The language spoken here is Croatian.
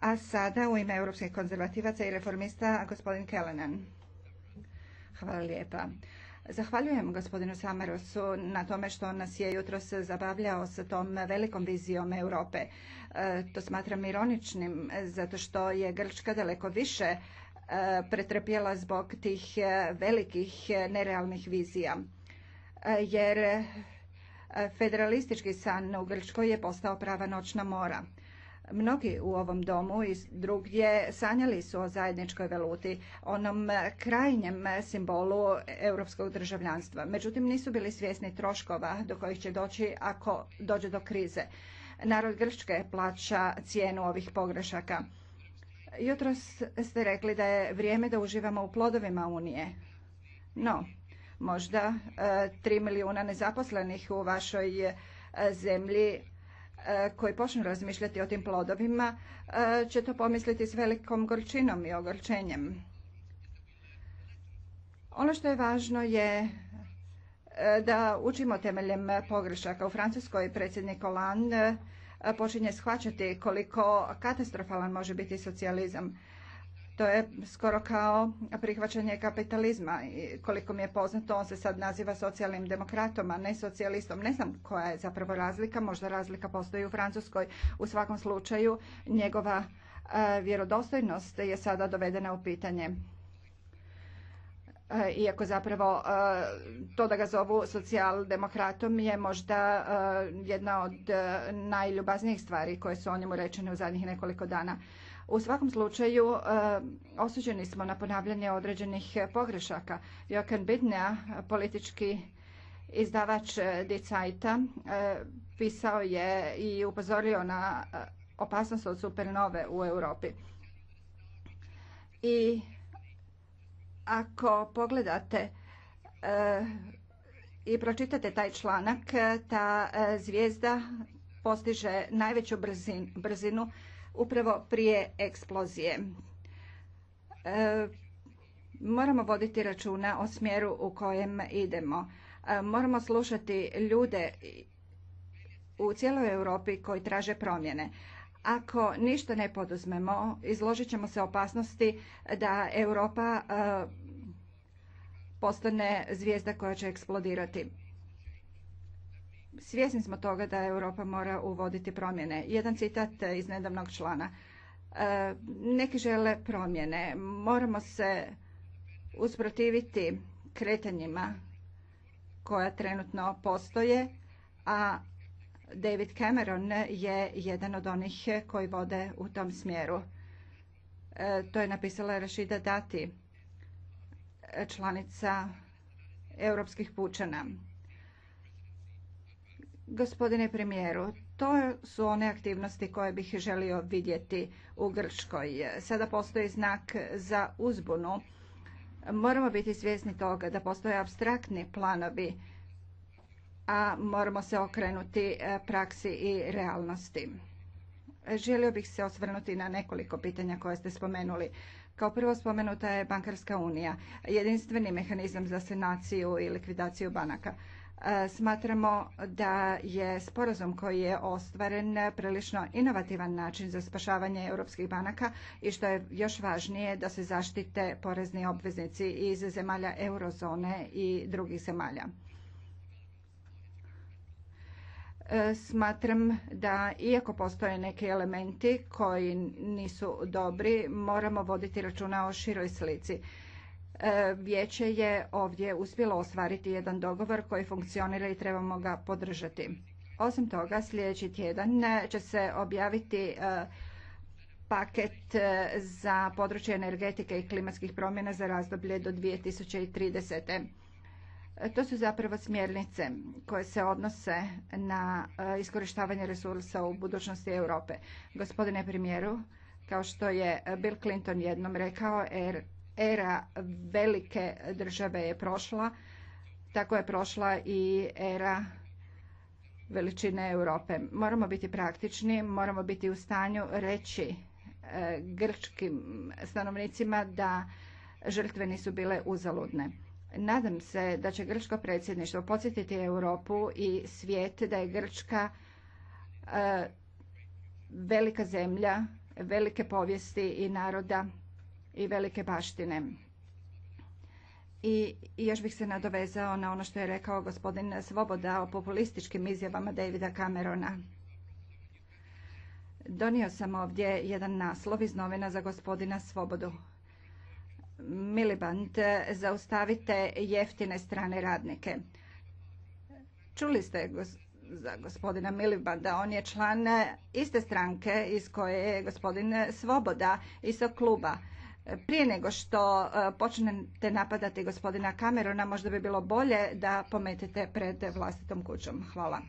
A sada u ime europskih konzervativaca i reformista gospodin Kellenen. Hvala lijepa. Zahvaljujem gospodinu Samarosu na tome što nas je jutros zabavljao sa tom velikom vizijom Europe. To smatram ironičnim zato što je Grčka daleko više pretrpjela zbog tih velikih nerealnih vizija. Jer federalistički san u Grčkoj je postao prava noćna mora. Mnogi u ovom domu i drugdje sanjali su o zajedničkoj valuti, onom krajnjem simbolu europskog državljanstva. Međutim, nisu bili svjesni troškova do kojih će doći ako dođe do krize. Narod Grčke plaća cijenu ovih pogrešaka. Jutros ste rekli da je vrijeme da uživamo u plodovima Unije. No, možda 3 milijuna nezaposlenih u vašoj zemlji koji počnu razmišljati o tim plodovima će to pomisliti s velikom gorčinom i ogorčenjem. Ono što je važno je da učimo temeljem pogrešaka. U Francuskoj predsjednik Hollande počinje shvaćati koliko katastrofalan može biti socijalizam. To je skoro kao prihvaćanje kapitalizma. Koliko mi je poznato, on se sad naziva socijalnim demokratom, a ne socijalistom. Ne znam koja je zapravo razlika, možda razlika postoji u Francuskoj. U svakom slučaju, njegova vjerodostojnost je sada dovedena u pitanje. Iako zapravo to da ga zovu socijaldemokratom je možda jedna od najljubaznijih stvari koje su o njemu rečene u zadnjih nekoliko dana. U svakom slučaju osuđeni smo na ponavljanje određenih pogrešaka. Jochen Bittner, politički izdavač Die Zeita, pisao je i upozorio na opasnost od supernove u Europi. I ako pogledate i pročitate taj članak, ta zvijezda postiže najveću brzinu upravo prije eksplozije. Moramo voditi računa o smjeru u kojem idemo. Moramo slušati ljude u cijeloj Europi koji traže promjene. Ako ništa ne poduzmemo, izložit ćemo se opasnosti da Europa postane zvijezda koja će eksplodirati. Svjesni smo toga da Europa mora uvoditi promjene. Jedan citat iz nedavnog člana. Neki žele promjene. Moramo se usprotiviti kretanjima koja trenutno postoje, a David Cameron je jedan od onih koji vode u tom smjeru. To je napisala Rashida Dati, članica europskih pučana. Gospodine premijeru, to su one aktivnosti koje bih želio vidjeti u Grčkoj. Sada postoji znak za uzbunu. Moramo biti svjesni toga da postoje apstraktni planovi, a moramo se okrenuti praksi i realnosti. Želio bih se osvrnuti na nekoliko pitanja koje ste spomenuli. Kao prvo spomenuta je bankarska unija, jedinstveni mehanizam za sanaciju i likvidaciju banaka. Smatramo da je sporazum koji je ostvaren prilično inovativan način za spašavanje europskih banaka i što je još važnije da se zaštite porezni obveznici iz zemalja eurozone i drugih zemalja. Smatram da iako postoje neki elementi koji nisu dobri, moramo voditi računa o široj slici. Vijeće je ovdje uspjelo ostvariti jedan dogovor koji funkcionira i trebamo ga podržati. Osim toga, sljedeći tjedan će se objaviti paket za područje energetike i klimatskih promjena za razdoblje do 2030. To su zapravo smjernice koje se odnose na iskorištavanje resursa u budućnosti Europe. Gospodine premijeru, kao što je Bill Clinton jednom rekao, era velike države je prošla, tako je prošla i era veličine Europe. Moramo biti praktični, moramo biti u stanju reći grčkim stanovnicima da žrtve nisu bile uzaludne. Nadam se da će grčko predsjedništvo podsjetiti Europu i svijet da je Grčka velika zemlja velike povijesti i naroda i velike baštine. I još bih se nadovezao na ono što je rekao gospodin Svoboda o populističkim izjavama Davida Camerona. Donio sam ovdje jedan naslov iz novina za gospodina Svobodu. Miliband, zaustavite jeftine strane radnike. Čuli ste za gospodina Milibanda, on je član iste stranke iz koje je gospodin Svoboda, istog kluba. Prije nego što počnete napadati gospodina Camerona, možda bi bilo bolje da pometete pred vlastitom kućom. Hvala.